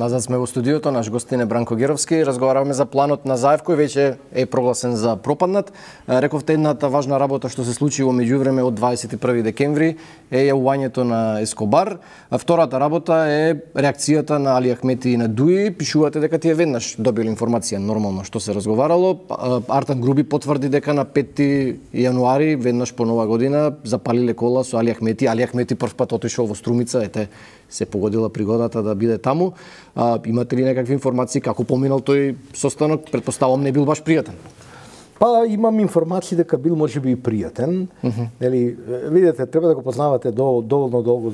Назад сме во студиото, наш гостин е Бранко Геровски. Разговараваме за планот на Заев, кој веќе е прогласен за пропаднат. Рековте, едната важна работа што се случи во меѓувреме од 21 декември е јавувањето на Ескобар. Втората работа е реакцијата на Али Ахмети и на Дуи. Пишувате дека тие веднаш добили информација нормално што се разговарало. Артан Груби потврди дека на 5 јануари, веднаш по нова година, запалиле кола со Али Ахмети. Али Ахмети првпат отишол во Струмица, ете, се погодила пригодата да биде таму. Имате ли некакви информации како поминал тој состанок? Претпоставам не бил баш пријатен. Па имам информации дека бил можеби и пријатен. Нели, видите, треба да го познавате доволно долго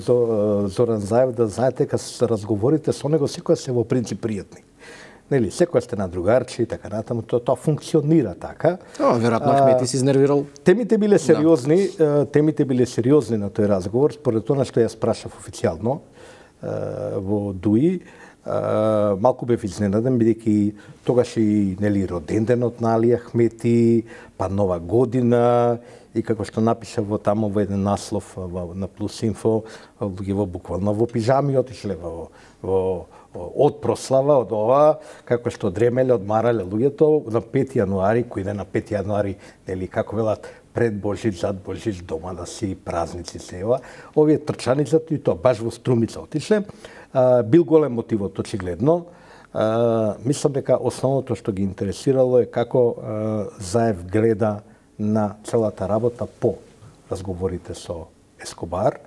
Зоран Заев да знаете дека се разговорите со него секоја се во принцип пријатни. Нели, секоја сте на другарчи и така натаму, тоа функционира така. Веројатно Ахмети се изнервирал. Темите биле сериозни, на тој разговор, според тоа што ја спрашав официјално во Дуи. Малку бев изненаден, бидејќи тогаш и нели роденденот на Али Ахмети, па Нова година, и како што напиша во тамо во еден наслов на Плюс Инфо, луѓе буквално во пижами отишле од прослава, од ова, како што дремеле, одмарале луѓето на 5 јануари, кој иде на 5 јануари, нели, како велат, пред Божич, зад Божич, дома да си празници се ева. Овие трчаницата и тоа баш во Струмица отишле. Бил голем мотивот, очигледно. Мислам дека основното што ги интересирало е како Заев гледа на целата работа по разговорите со Ескобар.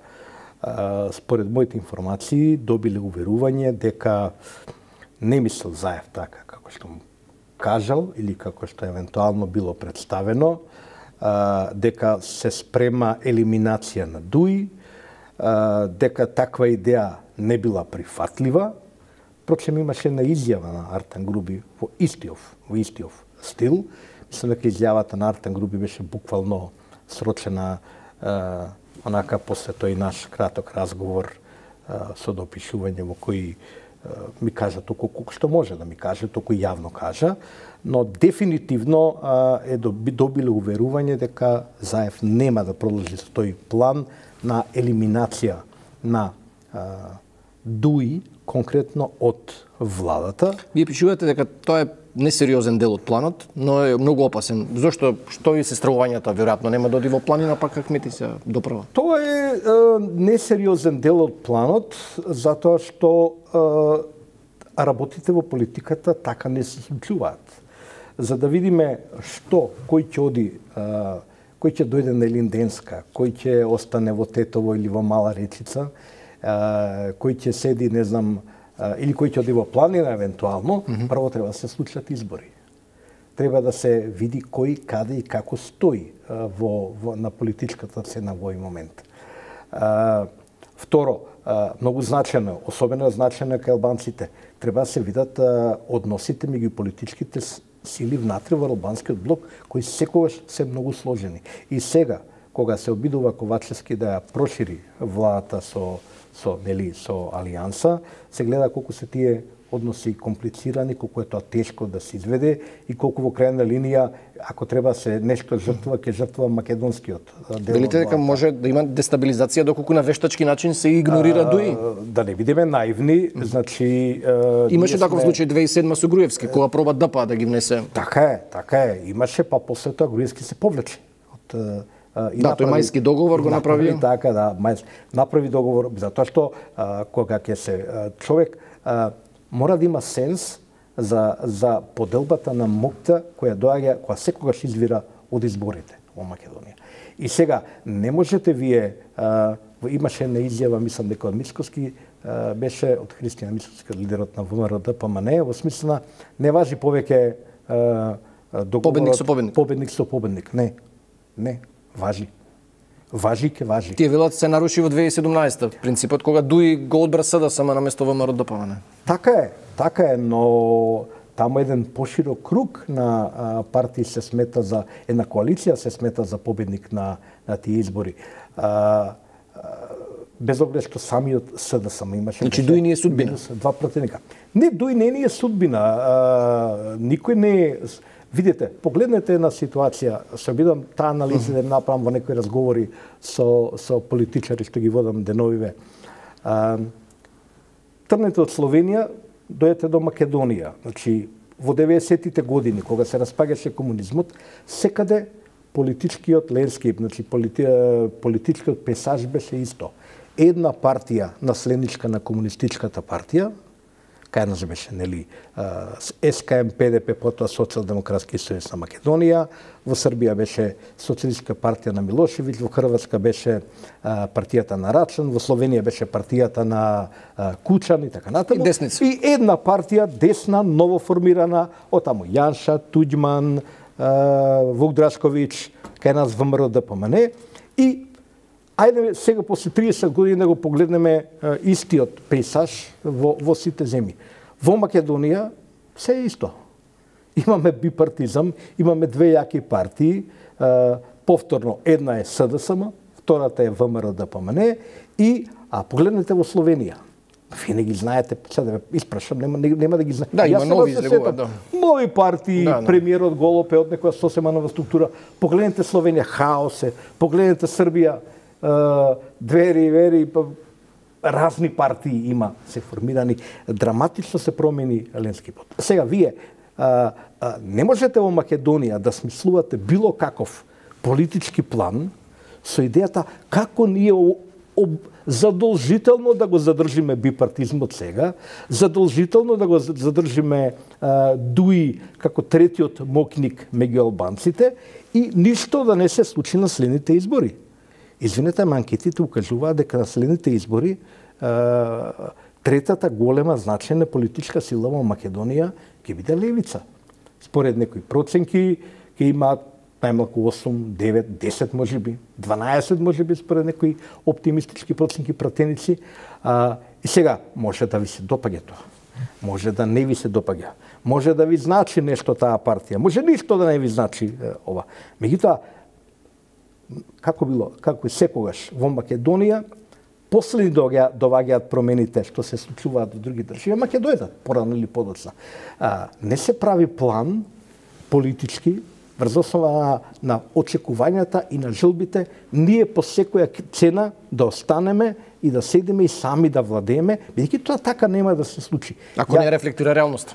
Според моите информации добиле уверување дека не мислел Заев така како што му кажал или како што евентуално било представено, дека се спрема елиминација на Дуи, дека таква идеја не била прифатлива. Впрочем, имаше една изјава на Артан Груби во истиов стил. Мислам дека изјавата на Артан Груби беше буквално срочена онака после тој наш краток разговор со допишување во кој ми кажа толку колку што може да ми каже, толку јавно кажа, но дефинитивно е добиле уверување дека Заев нема да продолжи со тој план на елиминација на Дуи, конкретно од владата. Вие пишувате дека тоа е несериозен дел од планот, но е многу опасен. Зошто? Што и се стравувањата веројатно нема да оди во планина, пак Ахмети се доправа? Тоа е несериозен дел од планот, затоа што работите во политиката така не се случуваат. За да видиме кој ќе оди, кој ќе дојде на Илинденска, кој ќе остане во Тетово или во Мала Речица, кој ќе седи, не знам, или кој ќе оди во планина евентуално, прво треба да се случат избори. Треба да се види кој, каде и како стои на политичката сцена во овој момент. Второ, многу значено, особено значено кај албанците, треба да се видат односите меѓу политичките сили внатре во албанскиот блок, кои секогаш се многу сложени. И сега, кога се обидува Ковачевски да ја прошири владата со Алијанса, се гледа колку се тие односи комплицирани, колку е тоа тешко да се изведе и колку во крајна линија, ако треба се нешто жртва, ќе жртва македонскиот дел. Велите дека може да има дестабилизација доколку на вештачки начин се игнорира Дуи? Да не бидеме наивни, значи имаше таков случај 2007 со Груевски, кога проба ДПА да ги внесе. Така е, имаше, па после тоа Груевски се повлече од тој мајски договор го направи. Така, да, направи договор, затоа што кога ќе се човек мора да има сенс за поделбата на моќта која доаѓа, која секогаш извира од изборите во Македонија. И сега не можете вие, имаше една изјава, мислам дека од Мицкоски беше од Христијан Мицкоски, лидерот на ВМРО ДПМН, во смисла не важи повеќе договорот победник со победник. Не. Важи. Тие велат се наруши во 2017, принципот кога Дуи го одбра СДСМ наместо ВМРО ДПМН. Така е, но таму еден поширок круг на партии се смета за една коалиција се смета за победник на тие избори. Без оглед што самиот СДСМ имаше. Значи Дуи не е судбина. Два пратеника. Не, Дуи не е судбина. Никој не е. Видите, погледнете една ситуација, се обидам таа анализа да направам во некои разговори со политичари што ги водам деновиве. Тргнете од Словенија, дојдете до Македонија. Значи, во 90-тите години, кога се распаѓаше комунизмот, секаде политичкиот лендскип, значи политичкиот пейзаж беше исто. Една партија наследничка на комунистичката партија, кај нас беше, нели, СКМ, ПДП, потоа Социјалдемократски сојуз на Македонија, во Србија беше Социјалистичка партија на Милошевиќ, во Хрватска беше партијата на Рачан, во Словенија беше партијата на Кучан и така натаму. И една партија десна, новоформирана, отаму Јанша, Туѓман, Вук Драшковиќ, кај нас ВМРО ДПМН. И ајде сега после 30 години да го погледнеме истиот пейзаж во сите земји. Во Македонија се е исто. Имаме бипартизам, имаме две јаки партии, повторно една е СДСМ, втората е ВМРО ДПМН а погледнете во Словенија. Вие не ги знаете, сега да ве испрашам, нема да ги знаете. Да, има нови излегува, нови партии, премиерот Голоп е од некоја сосема нова структура. Погледнете Словенија, хаос е. Погледнете Србија, Двери, Вери, разни партии има се формирани, драматично се промени лендскипот. Сега вие не можете во Македонија да смислувате било каков политички план со идејата како ние задолжително да го задржиме бипартизмот сега, задолжително да го задржиме Дуи како третиот мокник меѓу албанците и ништо да не се случи на следните избори. Извинете, анкетите укажуваат дека на следните избори третата голема значајна политичка сила во Македонија ќе биде левица. Според некои проценки ќе имаат најмалку 8, 9, 10 можеби, 12 можеби според некои оптимистички проценки пратеници. И сега може да ви се допаѓа тоа. Може да не ви се допаѓа. Може да ви значи нешто таа партија. Може ништо да не ви значи ова. Меѓутоа, како и секогаш во Македонија, последни доваѓаат промените што се случуваат во други држави, ама ќе дојдат порано или подоцна. Не се прави план политички врз основа на очекувањата и на желбите, ние по секоја цена да останеме и да седиме и сами да владееме, бидејќи тоа така нема да се случи. Ако не рефлектира реалноста.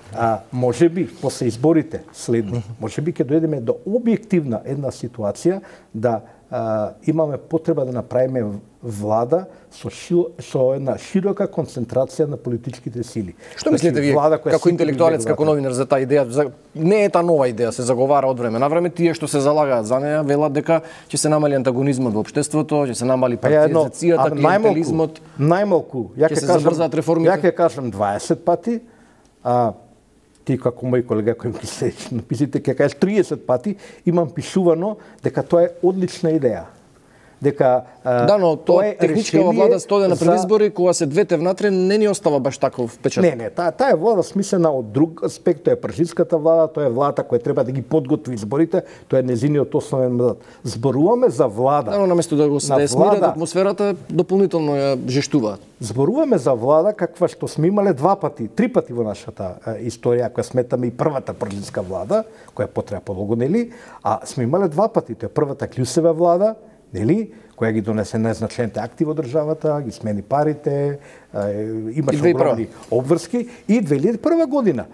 Може би, после изборите следни, може би ќе дојдеме до објективна една ситуација да имаме потреба да направиме влада со една широка концентрација на политичките сили. Што мислите вие, како интелектуалец, како новинар, за таа идеја? Не е таа нова идеја, се заговара од време на време. Тие што се залагаат за неа велат дека ќе се намали антагонизмот во општеството, ќе се намали партизацијата, клиентелизмот. Најмалку, ја ќе кажам 20 пати, ти како мој колега кој ми се написите, ќе кажеш 30 пати, имам пишувано дека тоа е одлична идеја. Дека но тоа е техничка влада стодена пред избори, кога се двете внатре не ни остава баш таков впечаток. Не, таа е влада смислена од друг аспект, тоа е пржинската влада, тоа е владата која треба да ги подготви изборите, тоа е незиниот основен мандат. Зборуваме за влада. Но наместо да го се смират атмосферата, дополнително ја жештуваат. Зборуваме за влада каква што сме имале 2 пати, 3 пати во нашата историја, која сметаме и првата пржинска влада, која потреа подолго, нели, а сме имале 2 пати, тоа е првата Клјусева влада, нели, која ги донесе незначајните акти во државата, ги смени парите, имаше огромни обврски и 2001 година.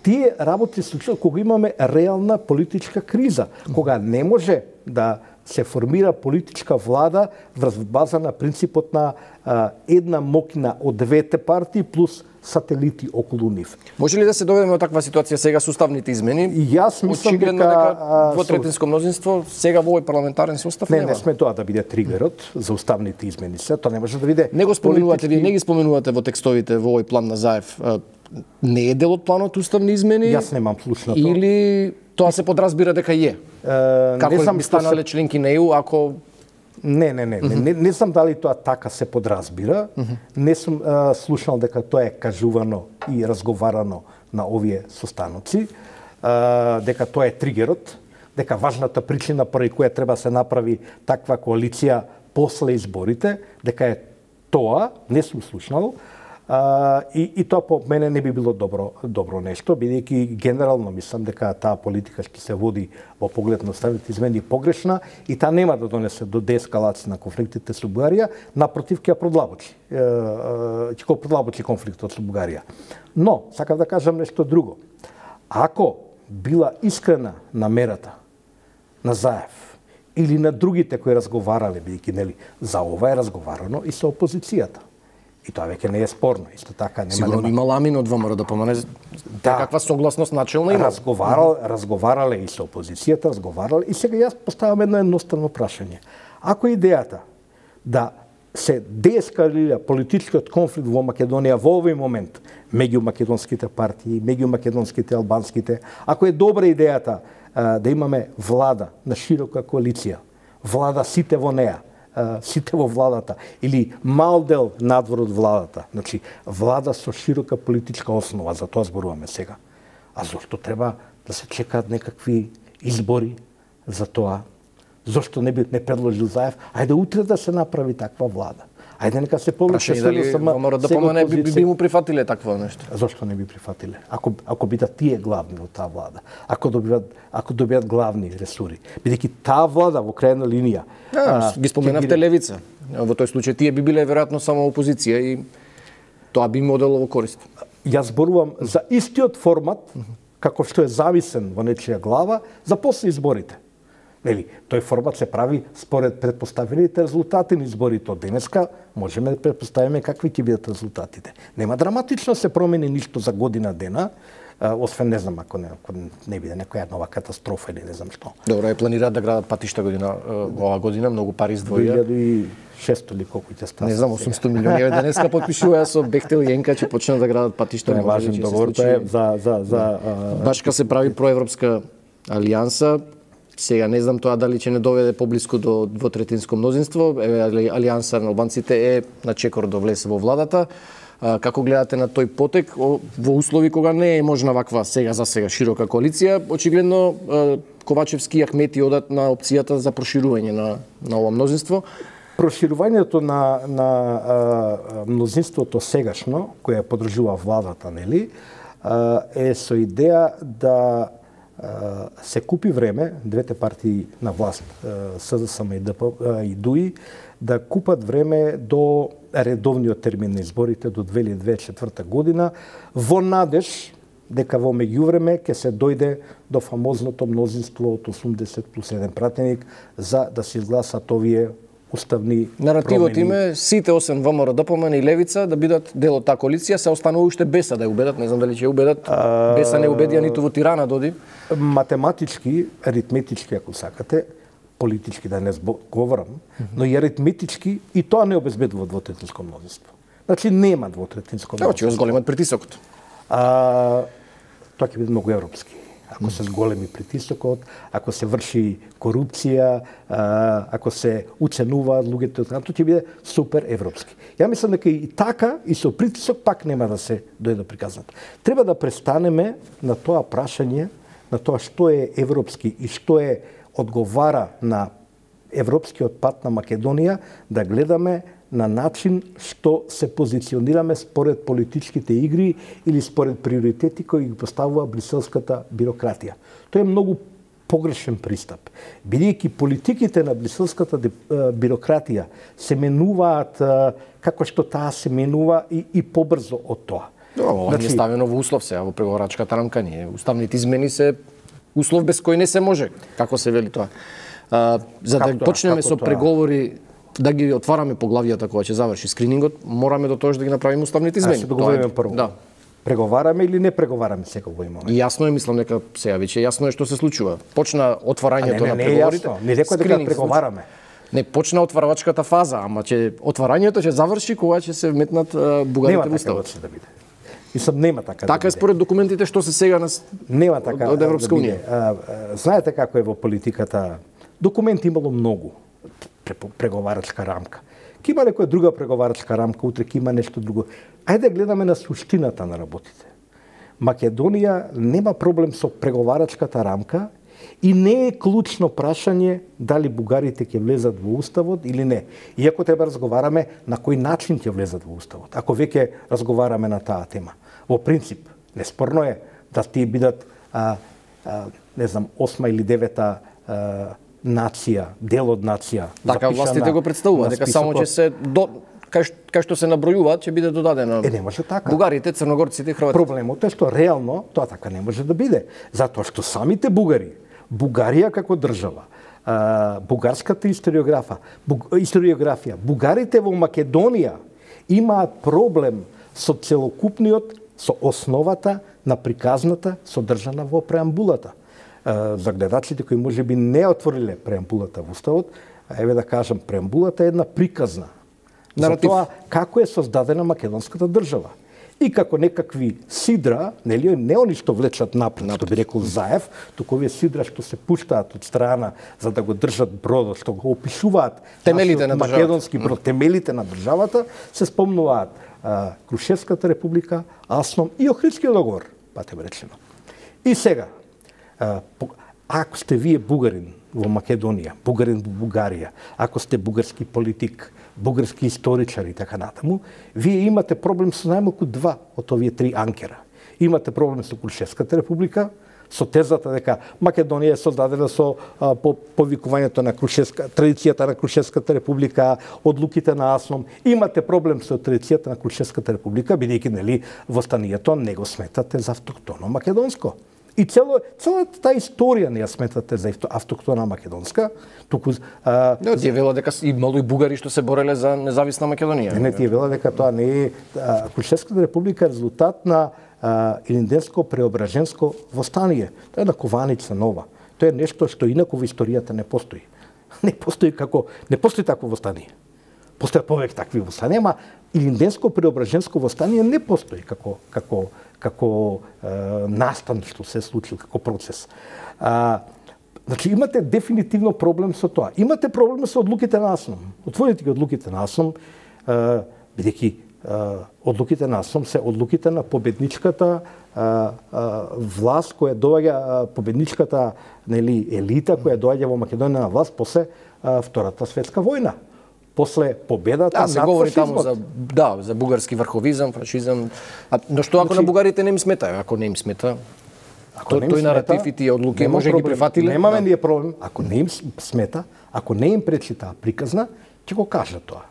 Тие работи се случуваат кога имаме реална политичка криза, кога не може да се формира политичка влада врз база на принципот на една мокна од двете партии плюс сателити околу нив. Може ли да се доведеме од таква ситуација сега со уставните измени? Јас мислам дека двотретинско мнозинство сега во овој парламентарен состав нема. Не сме тоа да биде тригерот за уставните измени. Тоа не може да биде. Не го споменувате, вие не ги споменувате во текстовите во овој план на Заев. Не е дел од планот уставни измени? Јас немам слушнато. Или тоа се подразбира дека е? Како би станале членки на ЕУ ако Не знам дали тоа така се подразбира. Не сум слушнал дека тоа е кажувано и разговарано на овие состаноци, дека тоа е тригерот, дека важната причина поради која треба се направи таква коалиција после изборите, дека е тоа, не сум слушнал. И тоа по мене не би било добро нешто, бидејќи генерално мислам дека таа политика што се води во поглед на уставните измени погрешна и таа нема да донесе до деескалација на конфликтите со Бугарија, напротив ќе ја продлабочи. Ќе го продлабочи конфликтот со Бугарија. Но сакам да кажам нешто друго. Ако била искрена намерата на Заев или на другите кои разговарале, бидејќи нели за ова е разговарано и со опозицијата. И тоа веќе не е спорно. Исто така нема. Сигурно има ламин од ВМРО да помане. Да, каква согласност начелна има? Разговарале и со опозицијата, разговарале и сега јас поставам едно едноставно прашање. Ако идејата да се деескалира политичкиот конфликт во Македонија во овој момент меѓу македонските партии, меѓу македонските и албанските, ако е добра идејата да имаме влада на широка коалиција, влада сите во неа, сите во владата, или мал дел надвор од владата, значи влада со широка политичка основа, за тоа зборуваме сега. А зошто треба да се чекаат некакви избори за тоа? Зошто не предложил Заев? Ајде утре да се направи таква влада. Ајде нека се повлече ВМРО да помане би му прифатиле такво нешто. Зошто не би прифатиле? Ако бидат тие главни во таа влада, ако добијат главни ресури, бидејќи таа влада во крајна линија ги споменавте левица. Во тој случај тие би биле веројатно само опозиција и тоа би им одело во корист. Јас зборувам за истиот формат како што е зависен во нечија глава за после изборите. Нели, тој формат се прави според претпоставените резултати на изборите од денеска, можеме да претпоставиме какви ќе бидат резултатите. Нема драматично се промени ништо за година дена, освен не знам ако не биде некоја нова катастрофа или не знам што. Добро, планираат да градат патишта ова година, многу пари издвоија. 2600 или колку ќе стане. Не знам, 800 милиони денеска потпишуваа со Бехтел и Јенка че почнат да градат патишта. Тоа е важен договор, тоа е за башка се прави проевропска алијанса. Сега не знам тоа дали ќе не доведе поблиску до двотретинско мнозинство. Алијанса на албанците е на чекор да влезе во владата. Како гледате на тој потек во услови кога не е можна ваква за сега широка коалиција? Очигледно Ковачевски и Ахмети одат на опцијата за проширување на ова мнозинство. Проширувањето на мнозинството сегашно, која подржува владата, нели, е со идеја да се купи време, двете партии на власт, СДСМ и ДУИ, да купат време до редовниот термин на изборите до 2024 година, во надеж дека во меѓувреме ќе се дојде до фамозното мнозинство од 80+1 пратеник за да се изгласат овие уставни наративот промени. име сите освен ВМРО ДПМН и Левица да бидат дел од таа коалиција, се останува уште Беса да ја убедат, не знам дали ќе ја убедат. Беса не убедија ниту во Тирана доди. Математички, аритметички ако сакате, политички да не говорам, но и аритметички и тоа не обезбедува двотретинско мнозинство. Значи нема двотретинско мнозинство. Ќе зголемат притисокот. Тоа ќе биде многу европски. Ако се зголеми притисокот, ако се врши корупција, ако се уценуваат луѓето, тоа ќе биде супер европски. Ја мислам дека и така и со притисок пак нема да се дојде приказнат. Треба да престанеме на тоа прашање, на тоа што е европски и што е одговара на европскиот пат на Македонија, да гледаме на начин што се позиционираме според политичките игри или според приоритети кои ги поставува бриселската бирократија. Тоа е многу погрешен пристап. Бидејќи политиките на бриселската бирократија се менуваат како што таа се менува и побрзо од тоа. Ова не е ставено во услов сега во преговорачката рамка, ние уставните измени се услов без кој не се може, како се вели тоа. За да почнеме со преговори, да ги отвараме поглавијата кога ќе заврши скринингот, мораме до тоа да ги направиме уставните измени. Се договориме прво. Да. Преговараме или не преговараме сега во момент? И јасно е, мислам дека сега веќе јасно е што се случува. Почна отварањето на преговорите. Не рекоа дека преговараме. Не, почна отварачката фаза, ама отварањето ќе заврши кога ќе се вметнат бугарите во уставот. Да биде. Мислам, нема така. Така е според документите што се сега нема така од Европска унија. Знаете како е во политиката. Документи имало многу. Преговарачка рамка. Ке има некоја друга преговарачка рамка, утре ке има нешто друго. Ајде гледаме на суштината на работите. Македонија нема проблем со преговарачката рамка И не е клучно прашање дали бугарите ќе влезат во уставот или не. Иако треба разговараме на кој начин ќе влезат во уставот. Ако веќе разговараме на таа тема. Во принцип, неспорно е да тие бидат не знам, 8 или 9 нација, дел од нација. Така властите го представуваат, дека само ќе се кај што се набројуваат ќе биде додадено. Не може така. Бугарите, црногорците и хрватите. Проблемот е што реално тоа така не може да биде, затоа што самите бугари, Бугарија како држава, бугарската историографија, бугарите во Македонија имаат проблем со целокупниот, со основата на приказната содржана во преамбулата. За гледачите кои можеби не отвориле преамбулата во уставот, еве да кажам, преамбулата е една приказна наратив за тоа како е создадена македонската држава. И како некакви сидра, нели, не они што влечат напред, што би рекол Заев, туку овие сидра што се пуштаат од страна за да го држат бродот, што го опишуваат темелите на македонски брод, темелите на државата, се спомнуваат Крушевската република, Асном и Охридскиот договор, патем речено. И сега, ако сте вие бугарин во Македонија, бугарин во Бугарија, ако сте бугарски политик, бугарски историчар и така натаму, вие имате проблем со најмалку 2 од овие 3 анкера. Имате проблем со Крушевската република, со тезата дека Македонија е создадена со повикувањето на традицијата на Крушевската република, одлуките на Асном. Имате проблем со традицијата на Крушевската република, бидејќи нели востанието не го сметате за автохтоно македонско. И целата таа историја не ја сметате за автохтона македонска, туку тие вела дека имало и бугари што се бореле за независна Македонија. Не, тие вела дека тоа не е Крушевската република е резултат на Илинденско-преображенско востание. Тоа е една кованица нова. Тоа е нешто што инаку во историјата не постои. Не постои такво востание. Постојат повеќе такви востанија, ама Илинденско-преображенско востание не постои како настан што се случил, како процес. Значи, имате дефинитивно проблем со тоа. Имате проблем со одлуките на Асном. Отворите ги одлуките на Асном, бидејќи одлуките на Асном се одлуките на победничката власт која доаѓа, победничката елита која доаѓа во Македонија на власт после Втората светска војна. После победата над се говори таму за бугарски врховизам, фашизам. Но што ако на бугарите не им смета? Ако не им смета, тој наратив и тие одлуки може ги прифатиле? Немаме ние проблем. Ако не им смета, ако не им пречи таа приказна, ќе го кажат тоа.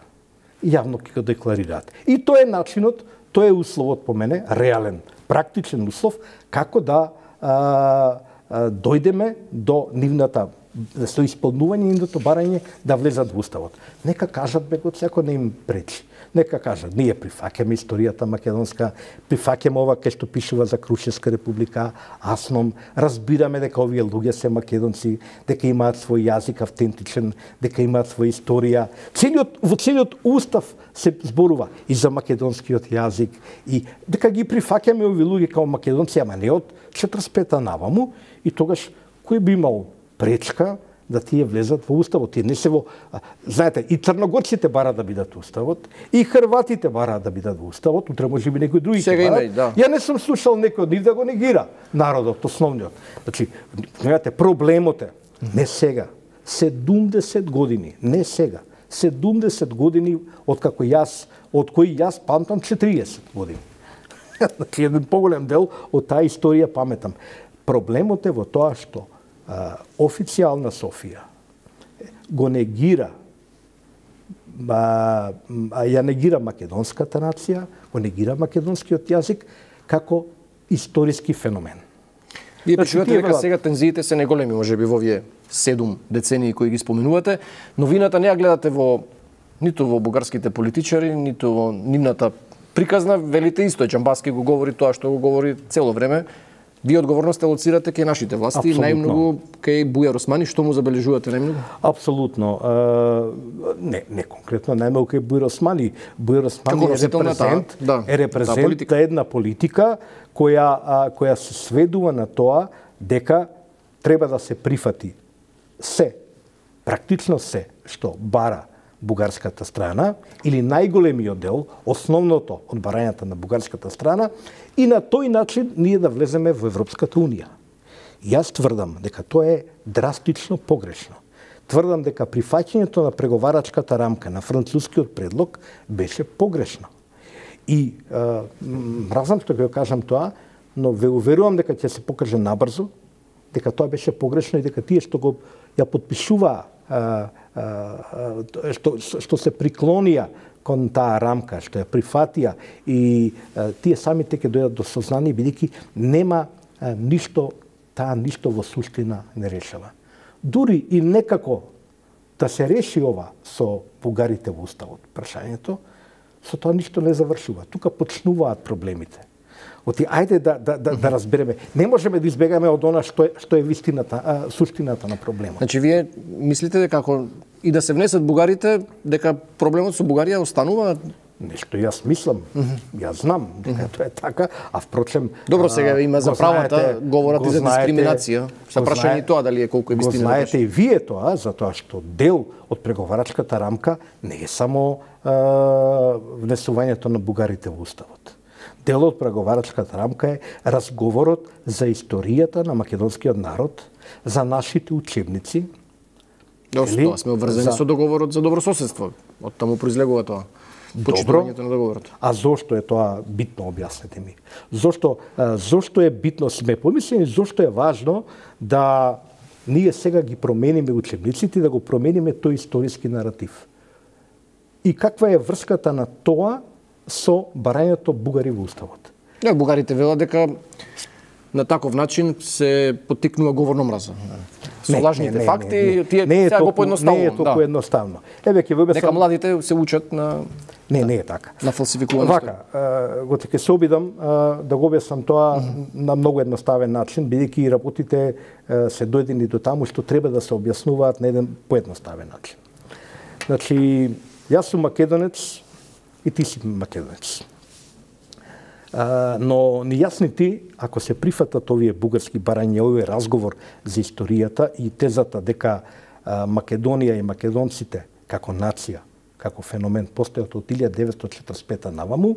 Јавно ќе го декларираат. И тоа е начинот, тоа е условот по мене, реален, практичен услов, како да дојдеме до нивната со исполнување нивното барање да влезат во уставот. Нека кажат бегот, секој не им пречи. Нека кажат, ние прифаќаме историјата македонска, прифаќаме ова кај што пишува за Крушевска република, Асном, разбираме дека овие луѓе се македонци, дека имаат свој јазик автентичен, дека имаат своја историја. Во целиот устав се зборува и за македонскиот јазик и дека ги прифаќаме овие луѓе како македонци, ама не од 45-та наваму, и тогаш кој би имал пречка да тие влезат во уставот. Тие не се во... Знаете, и црногорците бараат да бидат во уставот, и хрватите бараат да бидат во уставот, утре може би некои други ќе бараат. Да. Ја не сум слушал некој од нив да го негира народот, основниот. Значи, знаете, проблемот е не сега, 70 години, не сега, 70 години од кои јас памтам 40 години. Значи, еден поголем дел од таа историја паметам. Проблемот е во тоа што официјална Софија го негира, ја негира македонската нација, го негира македонскиот јазик како историски феномен. Вие пишувате дека сега тензиите се неголеми, можеби во овие 7 децении кои ги споменувате, но вината не ја гледате ниту во бугарските политичари, ниту во нивната приказна, велите исто, Џамбаски го говори тоа што го говори цело време. Вие одговорноста лоцирате кај нашите власти, Абсолютно. најмногу кај Бујар Османи, што му забележувате најмногу? Апсолутно. Не конкретно најмногу кај Бујар Османи. Бујар Османи е репрезент на една политика која се сведува на тоа дека треба да се прифати практично се што бара бугарската страна или најголемиот дел, основното од барањата на бугарската страна, и на тој начин ние да влеземе во Европската унија. Јас тврдам дека тоа е драстично погрешно. Тврдам дека прифаќањето на преговарачката рамка на францускиот предлог беше погрешно. И мразам што ќе кажам тоа, но ве уверувам дека ќе се покаже набрзо, дека тоа беше погрешно и дека тие што го ја подпишуваа, што се приклонија кон таа рамка, што ја прифатија и тие самите ќе дојдат до сознание, бидејќи нема ништо, таа ништо во суштина не решава. Дури и некако да се реши ова со бугарите во уставот, прашањето, со тоа ништо не завршува. Тука почнуваат проблемите. Оти, ајде да разбереме. Не можеме да избегаме од она што е вистината, суштината на проблемот. Значи, вие мислите дека ако и да се внесат бугарите, дека проблемот со Бугарија останува? Нешто јас мислам, јас знам дека тоа е така, а впрочем... Добро, сега има за правата, говорат и за дискриминација. Са прашање и тоа дали е колку е вистина. Го знаете и вие тоа, затоа што дел од преговарачката рамка не е само внесувањето на бугарите во уставот. Дел од преговарачката рамка е разговорот за историјата на македонскиот народ, за нашите учебници. Тоа сме обврзани со договорот за добрососедство. Од таму произлегува тоа. Почитувањето на договорот. А зошто е тоа битно, објаснете ми? Зошто е битно? Сме помислени зошто е важно да ние сега ги промениме учебниците, да го промениме тој историски наратив. И каква е врската на тоа со барањето бугари во уставот? Бугарите велат дека на таков начин се поттикнува говорна мраза. Со лажните факти, тие сега го поедноставувам. Не е толку едноставно. Еве ќе ве дека младите се учат на Не е така. На фалсификувано. Вака, ќе се обидам да го објаснам тоа на многу едноставен начин, бидејќи работите се дојдени до таму што треба да се објаснуваат на еден поедноставен начин. Значи, јас сум македонец и ти си македонец. Но нејасни ти, ако се прифатат овие бугарски барања, овој разговор за историјата и тезата дека Македонија и македонците како нација, како феномен постојат од 1945 наваму,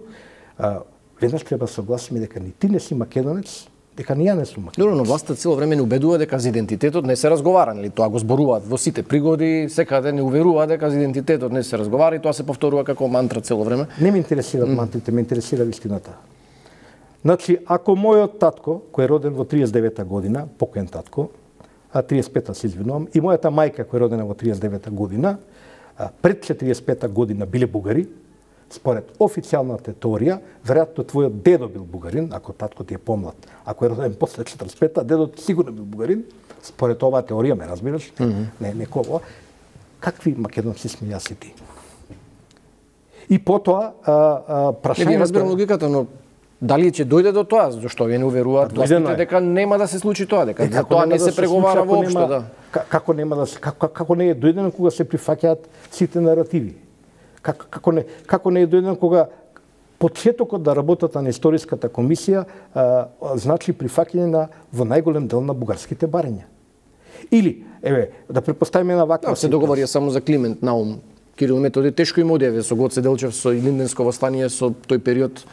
веднаш треба да согласиме дека ни ти не си македонец, дека ни ја не сум македонец. Добро, но власта цело време не убедува дека за идентитетот не се разговара, нели? Тоа го зборуваат во сите пригоди, секаде не уверува дека за идентитетот не се разговара и тоа се повторува како мантра цело време. Не ме интересираат мантрите, ме интересира вистината. Значи, ако мојот татко, кој е роден во 39-та година, покоен татко, 35-та се извинувам, и мојата мајка која е родена во 39-та година, пред 45-та година биле бугари, според официјалната теорија, веројатно твојот дедо бил бугарин, ако татко ти е помлад. Ако е роден после 45-та, дедот сигурно бил бугарин, според оваа теорија, ме разбираш? Не кого. Какви македонци сме јас и ти? И потоа прашањето... Не разбирам логиката, но дали ќе дојде до тоа, зашто вие не уверуваат властите дека нема да се случи тоа, дека за тоа не се преговара воопшто, да. Како нема да се како не е дојдено кога се прифаќаат сите наративи? Како не е дојдено кога почетокот на работата на историската комисија значи прифаќање во најголем дел на бугарските барања. Или, еве, да предпоставиме на ваква се договори само за Климент Наум, Кирил Методи, тешко им одјаве со Гоце Делчев, со Илинденско востание, со тој период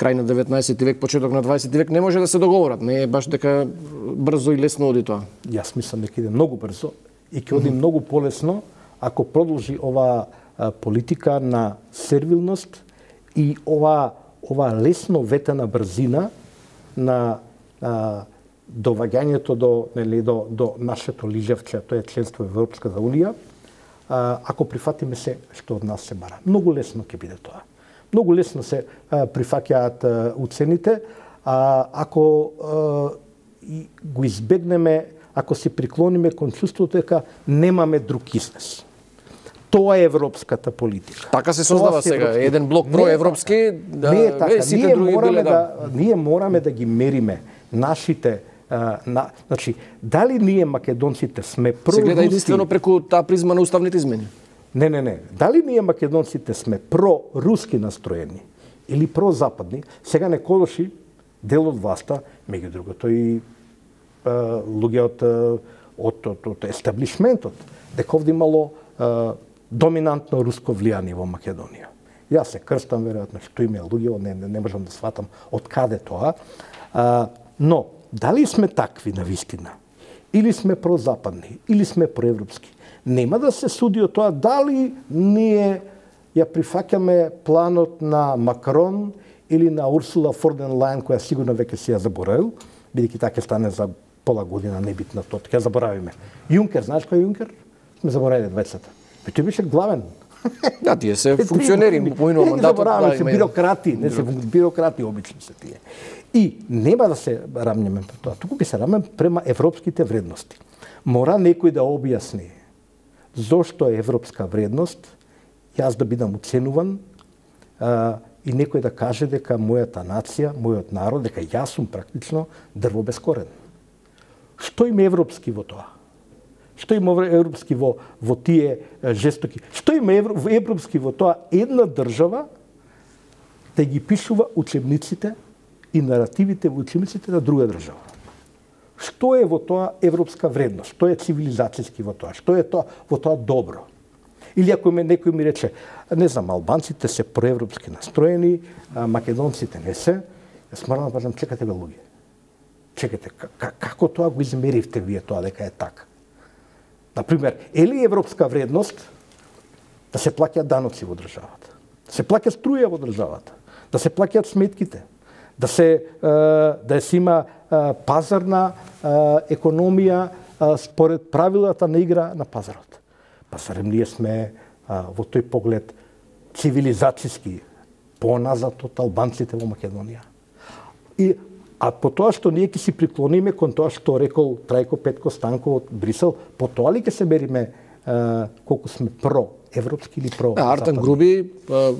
крај на 19 век, почеток на 20 век, не може да се договорат. Не е баш дека брзо и лесно оди тоа. Јас мислам дека иде многу брзо и ќе оди многу полесно ако продолжи ова политика на сервилност и ова лесно ветена брзина на доваѓањето до нашето лижевче, тоа е членство во Европската унија, ако прифатиме се што од нас се бара. Многу лесно ќе биде тоа. Многу лесно се прифаќаат уцените, ако го избегнеме, ако се приклониме кон чувството дека немаме друг излез. Тоа е европската политика. Така се создава сега, еден блок проевропски, не е така. сите други биле ние мораме да ги мериме нашите значи, дали ние македонците сме проруски... Се гледа единствено преку таа призма на уставните измени. Не. Дали ние македонците сме проруски настроени или прозападни, сега не колоши дел од власта, меѓу другото и луѓе од естаблишментот, дека овде имало доминантно руско влијание во Македонија. Јас се крстам, веројатно, што има луѓе, не можам да сватам од каде тоа, но дали сме такви на вистина, или сме прозападни, или сме проевропски, нема да се суди од тоа дали ние ја прифаќаме планот на Макрон или на Урсула фон дер Лајен, која сигурно веќе си ја заборавил, бидејќи така стане за пола година небитна тоа, ќе заборавиме. Јункер, знаеш кој е Јункер? Сме заборавиле двајцата. Тој беше главен. Да, тие се функционери по ино мандатот. Забораваме се бирократи, не се бирократи обично се тие. И нема да се рамнеме по тоа, туку ќе се рамнеме према европските вредности. Мора некој да објасни зошто е европска вредност, јас да бидам оценуван и некој да каже дека мојата нација, мојот народ, дека јас сум практично дрво без корен. Што има европски во тоа? Што има европски во тие жестоки? Што има европски во тоа една држава да ги пишува учебниците и наративите во учебниците на друга држава? Што е во тоа европска вредност? Што е цивилизацијски во тоа? Што е тоа во тоа добро? Или ако некој ми рече, не знам, албанците се проевропски настроени, македонците не се, јас морам да кажам, чекате бе луѓе. Чекате, како тоа го измеривте вие тоа дека е така? Например, е ли европска вредност да се плаќаат даноци во државата, да се плаќа струја во државата, да се плаќаат сметките, да се има пазарна економија според правилата на игра на пазарот. Па зарем ние сме во тој поглед цивилизацијски поназад од албанците во Македонија. А по тоа што ние ќе си приклониме кон тоа што рекол Трајко Петко Станко од Брисел, по тоа ли ќе се мериме колку сме про-европски или про-западни? Артан Груби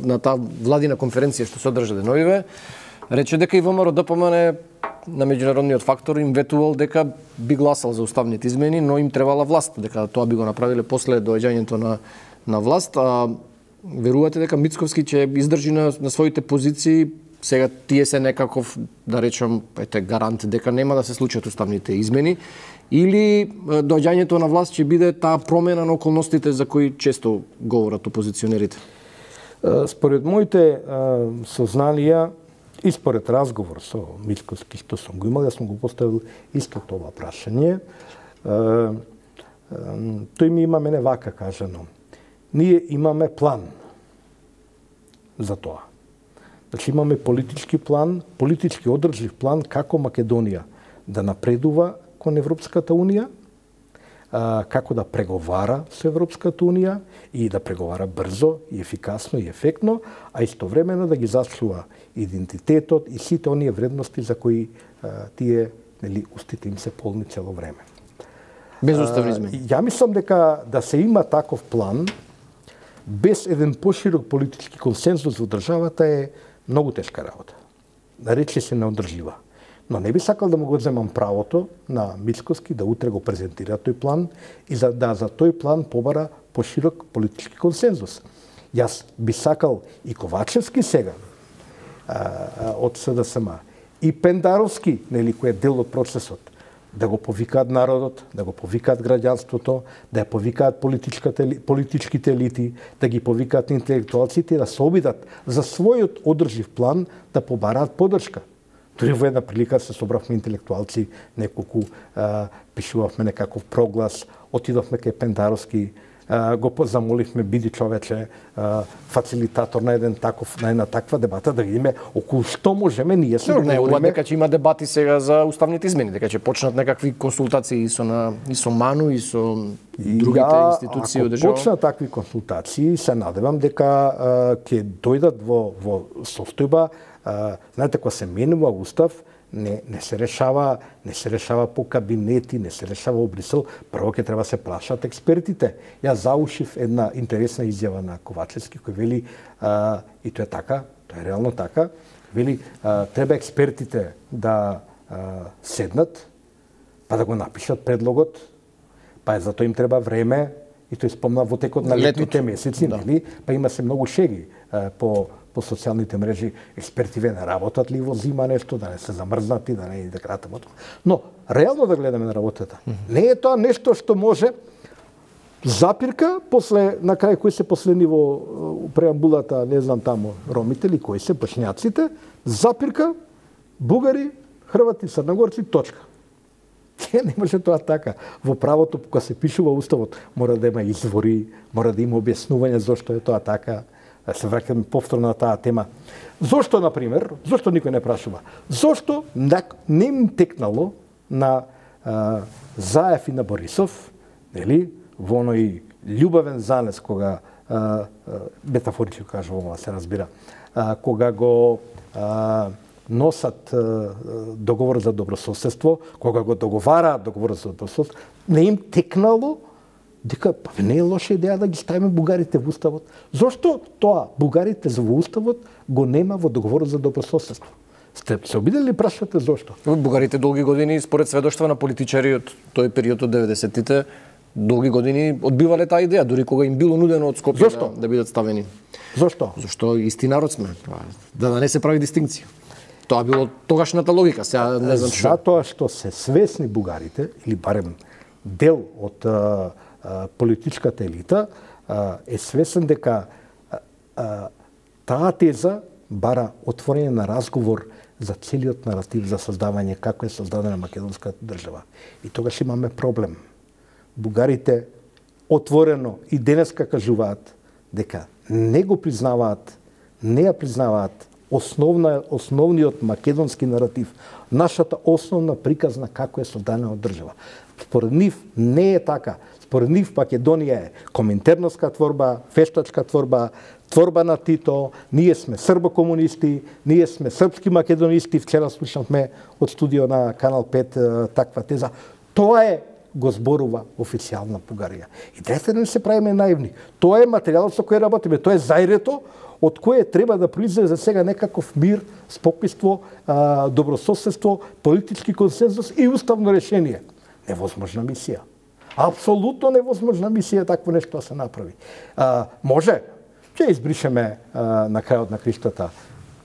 на таа владина конференција што се одржа деновиве рече дека и ВМРО ДПМН на меѓународниот фактор им ветувал дека би гласал за уставните измени, но им требала власт, дека тоа би го направиле после доаѓањето на власт. Верувате дека Мицковски ќе издржи на своите позиции? Сега тие се некаков, да речем, гарант дека нема да се случат уставните измени, или доаѓањето на власт ќе биде таа промена на околностите за кои често говорат опозиционерите? Според моите сознанија и според разговор со Мицковски што сум го имал, јас сум го поставил исто тоа прашање. Тој ми има мене вака кажано. Ние имаме план за тоа. Значи имаме политички план, политички одржлив план како Македонија да напредува кон Европската Унија, како да преговара со Европската Унија и да преговара брзо и ефикасно и ефектно, а истовремено да ги зачува идентитетот и сите оние вредности за кои тие устите им се полни цело време. Без уставни измени. Ја мислам дека да се има таков план без еден поширок политички консензус во државата е многу тешка работа. Рече се неодржлива. Но не би сакал да му го земам правото на Мицковски да утре го презентира тој план и за тој план побара поширок политички консензус. Јас би сакал и Ковачевски сега од СДСМ и Пендаровски, кој е дел од процесот, да го повикаат народот, да го повикаат граѓанството, да ја повикаат политичките елити, да ги повикаат интелектуалците и да се обидат за својот одржив план да побараат поддршка. Дори во една прилика се собравме интелектуалци, неколку пишувавме некаков проглас, отидовме кај Пендаровски, го замоливме, биди човече, фацилитатор на една таква дебата, да видиме околу што можеме ние се договориме. Дека ќе има дебати сега за уставните измени, дека ќе почнат некакви консултации и со МАНУ и со другите институции од држава. Ако почнат такви консултации, се надевам дека ќе дојдат во состојба. Знаете, кога се менува устав, не се решава по кабинети, не се решава во Брисел, прво ќе треба се прашаат експертите. Јас заушив една интересна изјава на Ковачевски кој вели, и тоа е така, тоа е реално така, вели треба експертите да седнат, па да го напишат предлогот, па за тоа им треба време, и тој спомна во текот на летните месеци, па има се многу шеги по социјалните мрежи, експерти не работат ли во зима нешто, да не се замрзнати, да не и да кратат. Но, реално да гледаме на работата. Не е тоа нешто што може запирка, на крај кои се последни во преамбулата, не знам таму, ромите или кои се, бошњаците, запирка, бугари, Хрвати, црногорци, точка. Не може тоа така. Во правото, кога се пишува уставот, мора да има извори, мора да има објаснување зошто е тоа така. Се враќаме повторно на таа тема. Зошто, например, зошто никој не прашува? Зошто не им текнало на Заев и на Борисов, нели, во оној љубавен занес, кога, метафорично кажувам, се разбира, кога го носат договор за добрососедство, кога го договараат договор за добрососедство, не им текнало дека не е лоша идеја да ги ставиме бугарите во уставот. Зошто тоа бугарите во уставот го нема во договорот за добрососедство? Сте се обидели прашувате зошто? Бугарите долги години, според сведоштва на политичари од тој период од 90-тите, долги години одбивале таа идеја, дури кога им било нудено од Скопје да бидат ставени. Зошто? Зашто исти народ сме, да не се прави дистинкција. Тоа било тогашната логика, сега не знам што. Затоа што се свесни бугарите, или барем дел од политичката елита, е свесен дека таа теза бара отворење на разговор за целиот наратив за создавање како е создадена македонската држава. И тогаш имаме проблем. Бугарите отворено и денеска кажуваат дека не го признаваат, не ја признаваат основниот македонски наратив, нашата основна приказна како е создадена држава. Според нив не е така. Според нив Македонија е коминтерновска творба, фештачка творба, творба на Тито, ние сме србокомунисти, ние сме српски македонисти, вчера слушавме од студио на Канал 5 таква теза. Тоа е го зборува официјална Бугарија. И дрете да не се правиме наивни. Тоа е материјалот со кој работиме, тоа е зајрето од кое треба да произлезе за сега некаков мир, спокойство, добрососедство, политички консензус и уставно решение. Невозможна мисија. Апсолутно невозможна мисија такво нешто да се направи. Може, ќе избришеме на крајот на криштата,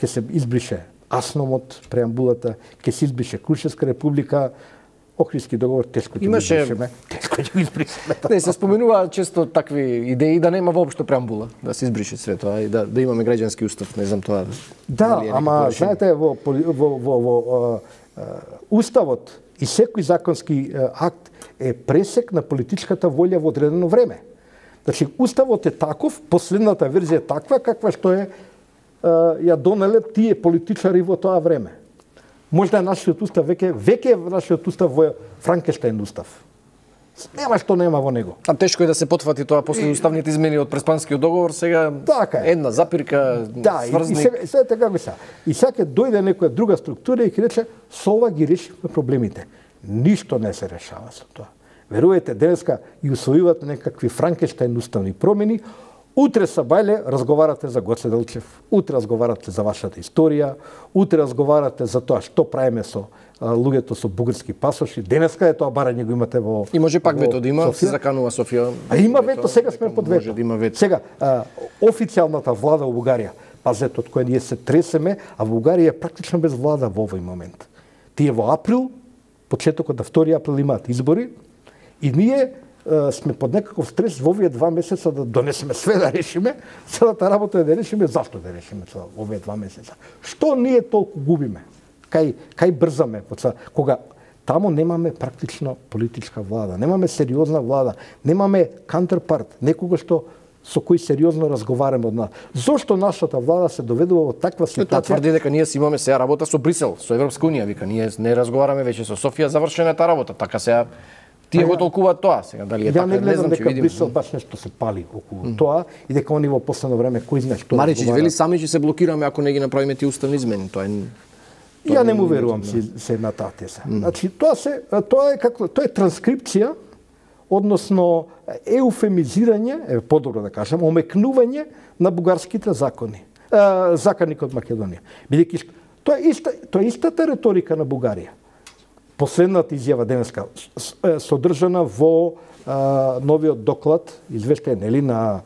ќе се избрише Асном преамбулата, ќе се избрише Крушевска република, Охридски договор тешко ќе го избришеме. Тешко ќе го избришеме. Не, се споменува често такви идеи да нема воопшто преамбула, да се избрише све тоа и да имаме граѓански устав, не знам тоа. Да, ама знаете во уставот и секој законски акт е пресек на политичката волја во одредено време. Значи, уставот е таков, последната верзија е таква, каква што е ја донеле тие политичари во тоа време. Можда нашиот устав веќе нашиот устав во Франкенштајн устав. Нема што нема во него. А тешко е да се потфати тоа после уставните измени од Преспанскиот договор, сега така е. Една запирка, сврзник. И сега како се. И сега ќе дојде некоја друга структура и ќе рече со ова ги решивме проблемите. Ништо не се решава со тоа. Верувате, денеска и усвојувате некакви Франкенштајн уставни промени, утре са бајле разговарате за Гоце Делчев, утре разговарате за вашата историја, утре разговарате за тоа што правиме со луѓето со бугарски пасоши. Денеска е тоа барање го имате во И може пак вето да има, се заканува Софија. А има вето, сега сме под вето. Сега официјалната влада во Бугарија, пазете од која ние се тресеме, а Бугарија е практично без влада во овој момент. Тие во април, почетокот на 2 април имаат избори и ние сме под некаков стрес во овие 2 месеца да донесеме све да решиме, целата работа е да решиме, зашто да решиме овие 2 месеца. Што ние толку губиме? Кај брзаме? Кога тамо немаме практично политичка влада, немаме сериозна влада, немаме counterpart, некого што со кој сериозно разговараме од нас. Зошто нашата влада се доведува во таква ситуација? Тоа тврди дека ние си имаме сега работа со Брисел, со Европска унија, вика, ние не разговараме веќе со Софија, завршена е таа работа, така сега тие го толкуваат тоа, сега дали е така, не знам, ќе видиме. Брисел баш нешто се пали околу тоа и дека они во последно време кој знае што Маричич вели сами ќе се блокираме ако не ги направиме тие уставни измени, тоа е. Ја не му верувам се на таа теза. Значи тоа е транскрипција, односно еуфемизирање, подобро да кажам, омекнување на бугарските закони. Законникот Македонија. Бидејќи тоа е истата реторика на Бугарија. Последната изјава денеска содржана во новиот доклад, извештај нели на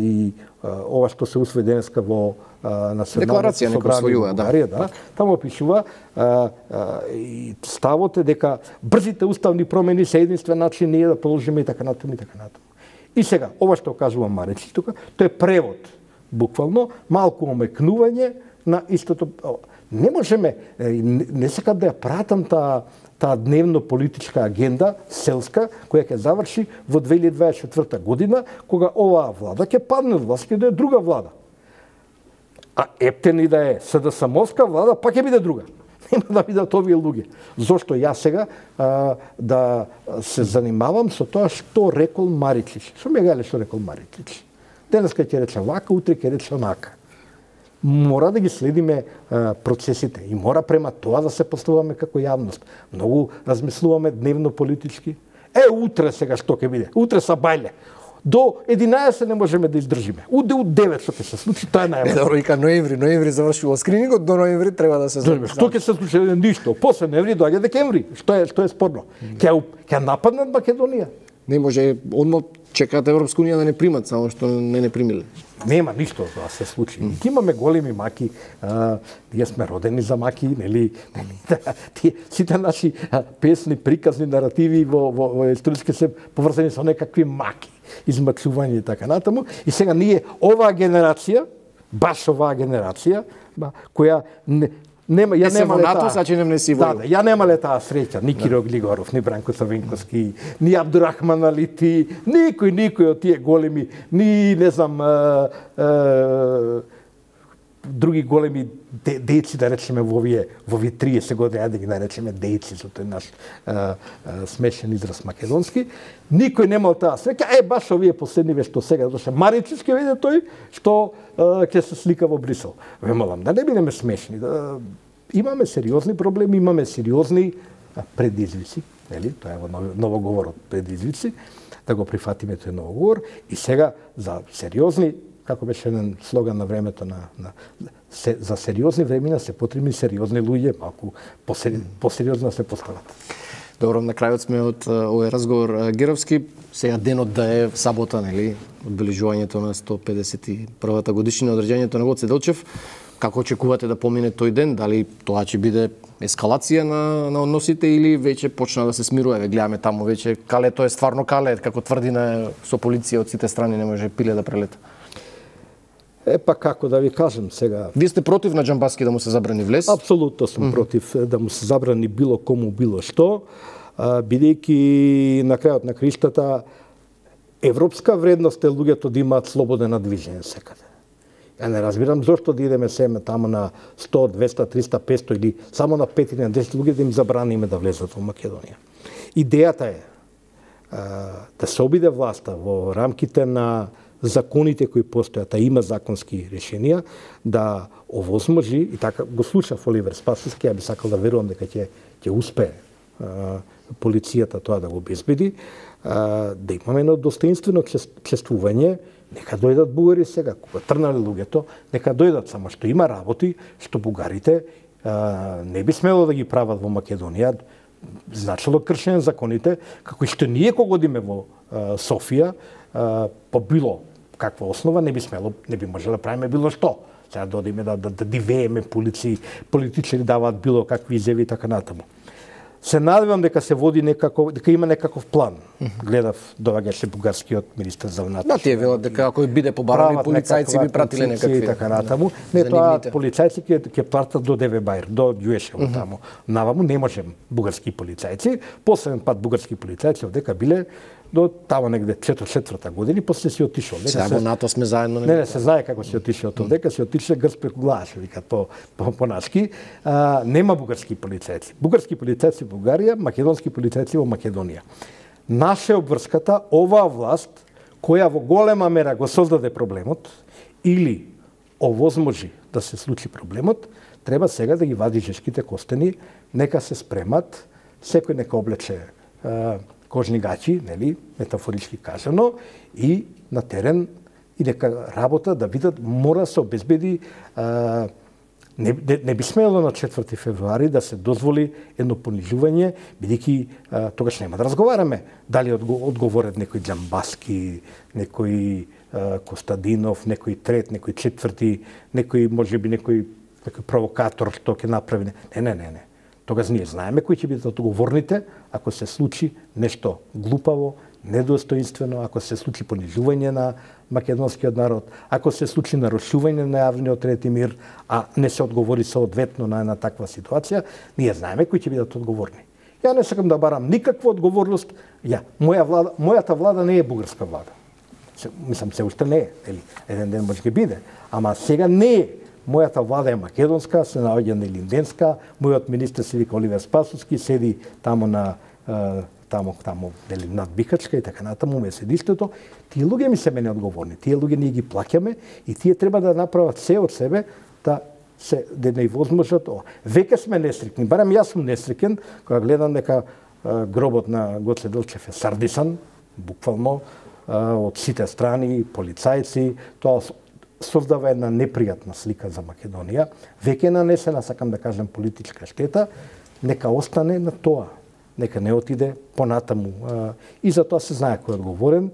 и ова што се усвои денеска во Националната собрание во Бугарија, да. Таму пишува и ставот е дека брзите уставни промени се единствен начин ние да продолжиме и така натаму и така натаму. И сега ова што кажува Маречи тука, тоа е превод, буквално малку омекнување на истото. Не можеме, не сакам да ја пратам таа дневно политичка агенда, селска, која ќе заврши во 2024 година, кога оваа влада ќе падне од власт, ќе да е друга влада. А ептен и да е СДСМовска влада, пак ќе биде друга. Нема да бидат овие луѓе. Зошто јас сега да се занимавам со тоа што рекол Маритлич? Што ме гале што рекол Маритлич? Денеска ќе рече вака, утре ќе рече онака. Мора да ги следиме процесите и мора према тоа да се поставуваме како јавност. Многу размислуваме дневно политички. Утре сега што ќе биде? Утре са бајле. До 11 не можеме да издржиме. Од 9 што ќе се случи, тоа е најважно. Добро, вика ноември завршува скринингот, до ноември треба да се знае. Што ќе се случи? Ништо. После ноември доаѓа декември. Што е спорно? Ќе нападнат Македонија. Не може, одма чекаат Европска унија да не примат, само што не примиле. Нема ништо да се случи. Имаме големи маки, ние сме родени за маки, нели? Сите наши песни, приказни, наративи во историски се поврзани со некакви маки, измачување и така натаму. И сега ние, оваа генерација, баш оваа генерација, која ја немале таа среќа, ни Киро Глигоров, ни Бранко Савинковски, ни Абдурахман Алити, никој од тие големи, ни не знам други големи дејци, да речеме во овие 30 години, ајде ги наречеме дејци со тој наш смешен израз македонски, никој немал таа среќа, баш овие последниве што сега доше Маричич ќе види тој што ќе се слика во Брисел. Ве молам, да не бидеме смешни, имаме сериозни проблеми, имаме сериозни предизвици, нели? Тоа е во новоговорот предизвици, да го прифатиме тој новоговор и сега за сериозни, како беше еден слоган на времето за сериозни времена се потребни сериозни луѓе, малку посериозно се постават. Добро, на крајот сме од овој разговор Геровски. Сега денот да е сабота, нели, одбележувањето на 151-та годишнина од роѓењето на Гоце Делчев. Како очекувате да помине тој ден? Дали тоа ќе биде ескалација на односите или веќе почна да се смирува? Гледаме таму веќе калето е стварно кале, како тврдина со полиција од сите страни, не може пиле да прелета. Како да ви кажам сега... Вие сте против на Џамбаски да му се забрани влез? Апсолутно сум против да му се забрани било кому било што, бидејќи на крајот на криштата европска вредност е луѓето да имаат слободен движење секаде. Ја не разбирам зошто да идеме семе таму на 100, 200, 300, 500 или само на 5 или на 10 луѓе да им забраниме да влезат во Македонија. Идејата е да се обиде власта во рамките на законите кои постојат, а има законски решенија, да овозможи, и така го слушав Оливер Спасовски, ја би сакал да верувам дека ќе успее полицијата тоа да го обезбеди, да имаме едно достоинствено чествување. Нека дојдат бугари сега, кога трнале луѓето, нека дојдат, само што има работи што бугарите не би смело да ги прават во Македонија, значило кршење законите, како и што ние кога одиме во Софија, по било каква основа не би можело да правиме било што. Сега да одиме да дивееме политичари даваат било какви изјави и така натаму. Се надевам дека се води дека има некаков план. Гледав доаѓаше бугарскиот министер за внатрешни. Да, тие велат дека ако биде побарани полицајци би пратиле некакви така натаму. Не, тоа полицајци ќе пратат до Девебајр, до Ѓуешево таму. Наваму не можем бугарски полицајци. Последен пат бугарски полицајци овдека биле до тамо негде 4-4 година, после си отишол. Сега во НАТО сме заедно. Не, се знае како си отишол овдека, си отише грс преку глава, викат по нашки. Нема бугарски полицајци. Бугарски полицајци во Бугарија, македонски полицајци во Македонија. Наша обврската, оваа власт, која во голема мера го создаде проблемот, или овозможи да се случи проблемот, треба сега да ги вади жешките костени, нека се спремат, секој нека облече кожни гачи, нели, метафорички кажано, и на терен и нека работа да видат, мора се обезбеди, не би смело на 4 февруари да се дозволи едно понижување, бидејќи тогаш нема да разговараме дали одговорат некој Џамбаски, некој Костадинов, некој трет, некој четврти, некој можеби некој провокатор што ќе направи. Не. Тогаш ние знаеме кои ќе бидат одговорните ако се случи нешто глупаво, недостоинствено, ако се случи понижување на македонскиот народ, ако се случи нарушување на јавниот ред и мир, а не се одговори соодветно на една таква ситуација, ние знаеме кои ќе бидат одговорни. Ја не сакам да барам никаква одговорност. Мојата влада не е бугарска влада. Мислам, се уште не е, еден ден може ќе биде, ама сега не е. Мојата влада е македонска, се наоѓа на Илинденска, мојот министер се вика Оливер Спасовски, седи таму на над Бикачка и така натаму ме седиштето. Тие луѓе ми се мене одговорни. Тие луѓе ние ги плаќаме и тие треба да направат се од себе да не возможат. Веќе сме несрекни, барем јас сум несреќен кога гледам дека гробот на Гоце Делчев е сардисан, буквално од сите страни, полицајци, тоа создава една непријатна слика за Македонија. Веќе нанесена, сакам да кажем, политичка штета, нека остане на тоа. Нека не отиде понатаму. И за тоа се знае кој е одговорен.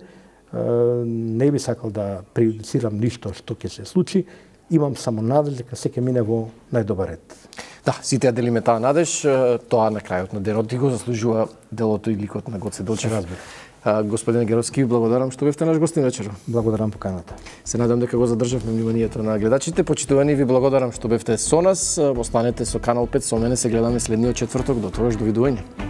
Не би сакал да преюдицирам ништо што ќе се случи. Имам само надеж дека се ќе мине во најдобар ред. Да, сите ја делиме таа надеж. Тоа на крајот на денот и го заслужува делото и ликот на Гоце Делчев. Господин Геровски, благодарам што бевте наш гостин вечер. Благодарам поканата. Се надам дека го задржавме вниманието на гледачите. Почитувани, ви благодарам што бевте со нас. Останете со Канал 5, со мене се гледаме следниот четврток. До тогаш, довидување.